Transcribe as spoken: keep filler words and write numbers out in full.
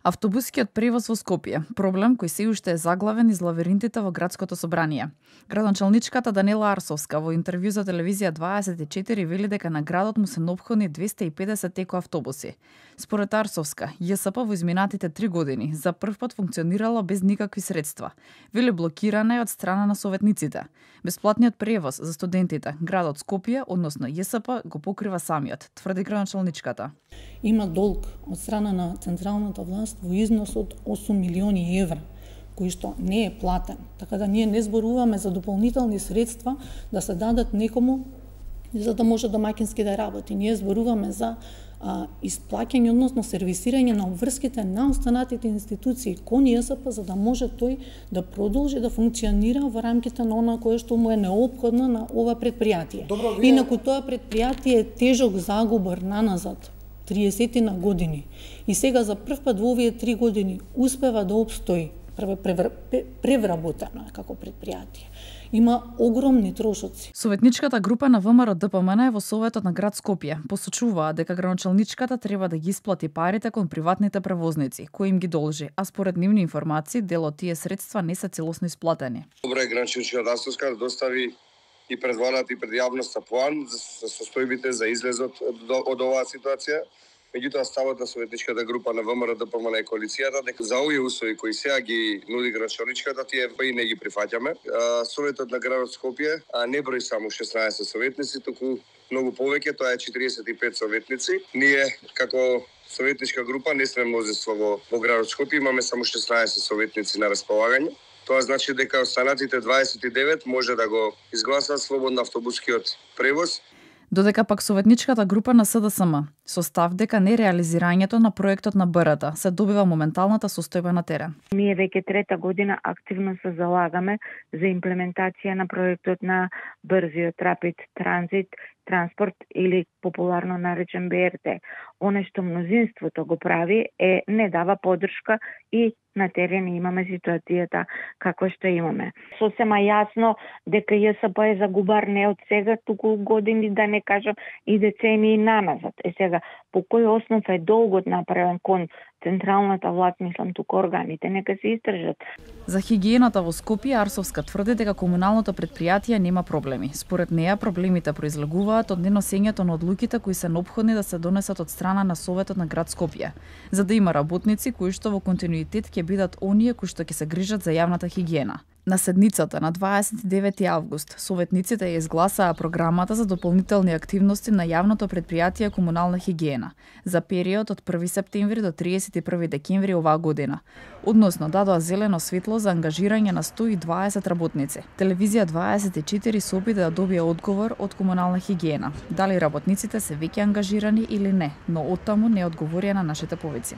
Автобускиот превоз во Скопје, проблем кој се уште е заглавен из лавиринтите во градското собрание. Градоначалничката Данела Арсовска во интервју за телевизија дваесет и четири вели дека на градот му се неопходни двесте и педесет теко автобуси. Според Арсовска, ЈСП во изминатите три години за прв пат функционирала без никакви средства. Вели блокирана е од страна на советниците. Бесплатниот превоз за студентите градот Скопје, односно ЈСП, го покрива самиот, тврди градоначалничката. Има долг од страна на централната власт во износ од осум милиони евра, кој што не е платен. Така да ние не зборуваме за дополнителни средства да се дадат некому за да може домаќински да работи. Ние зборуваме за а, исплаќање, односно сервисирање на обврските на останатите институции кон ЈСП, за да може тој да продолжи да функционира во рамките на она кое што му е неопходно на ова предпријатие. Добро, вие... Инаку тоа предпријатие е тежок загубар наназад, триесет на години. И сега за прв пат во овие три години успева да обстои превработено како предпријатие. Има огромни трошоци. Советничката група на ВМРО Д П М Н е во Советот на град Скопје. Посочуваа дека градоначалничката треба да ги исплати парите кон приватните превозници, кои им ги должи, а според нивни информации дел од тие средства не се целосно исплатени. Добро е градоначалничката Арсовска да достави и пред владата и пред јавноста план за состојбите за излезот од, од оваа ситуација. Меѓутоа ставот на советничката група на ВМРО Д П М Н и коалицијата дека за овие услови кои сега ги нуди градоначалничката, тие и не ги прифаќаме. Советот на градот Скопје не брои само шеснаесет советници, туку многу повеќе, тоа е четиридесет и пет советници. Ние како советничка група не сме мнозинство во, во градот Скопје, имаме само шеснаесет советници на располагање. Тоа значи дека останатите дваесет и девет може да го изгласат слободно автобускиот превоз. Додека пак советничката група на С Д С М со став дека нереализирањето на проектот на Б Р Т се добива моменталната состојба на терен. Ние веќе трета година активно се залагаме за имплементација на проектот на брзиот Rapid Transit транспорт или популарно наречен Б Р Т. Оне што мнозинството го прави е не дава поддршка и на терен имаме ситуацијата како што имаме. Сосема јасно дека ЈСП е загубар не од сега, туку години, да не кажам и децении наназад. Е сега, по кој основ е долгот направен кон централната власт, мислам туку органите, нека се истражат. За хигиената во Скопје Арсовска тврди дека комуналното предпријатие нема проблеми. Според неа проблемите произлегуваат од неносењето на одлуките кои се неопходни да се донесат од страна на Советот на град Скопје, за да има работници кои што во континуитет ќе бидат оние кои што ќе се грижат за јавната хигиена. На седницата на дваесет и девети август советниците ја изгласаа програмата за дополнителни активности на јавното предпријатие Комунална хигиена за период од први септември до триесет и први декември оваа година. Односно дадоа зелено светло за ангажирање на сто и дваесет работници. Телевизија дваесет и четири се обиде да добие одговор од Комунална хигиена, дали работниците се веќе ангажирани или не, но оттаму не одговорија на нашите повици.